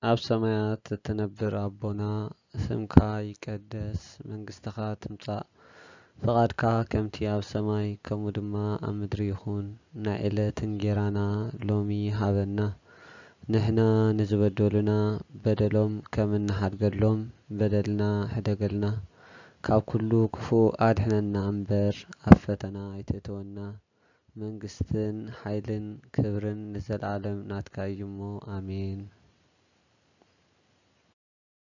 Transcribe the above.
ኣብ ሰማያት እትነብር ኣቦና፣ ስምካ ይቀደስ፣ መንግስትኻ ትምጻእ፣ ፍቓድካ ከምቲ ኣብ ሰማይ ከምኡ ድማ ኣብ ምድሪ ይኹን። ናይ ዕለት እንጌራና ሎሚ ሃበና። ንሕና ንዝበደሉና በደሎም ከም እንሓድገሎም በደልና ሕደገልና። ካብ ኩሉ ክፉእ ኣድሕነና እምበር ኣብ ፈተና ኣይተእትወና። መንግስትን ሓይልን ክብርን ንዘለኣለም ናትካ እዩ እሞ፣ ኣሜን።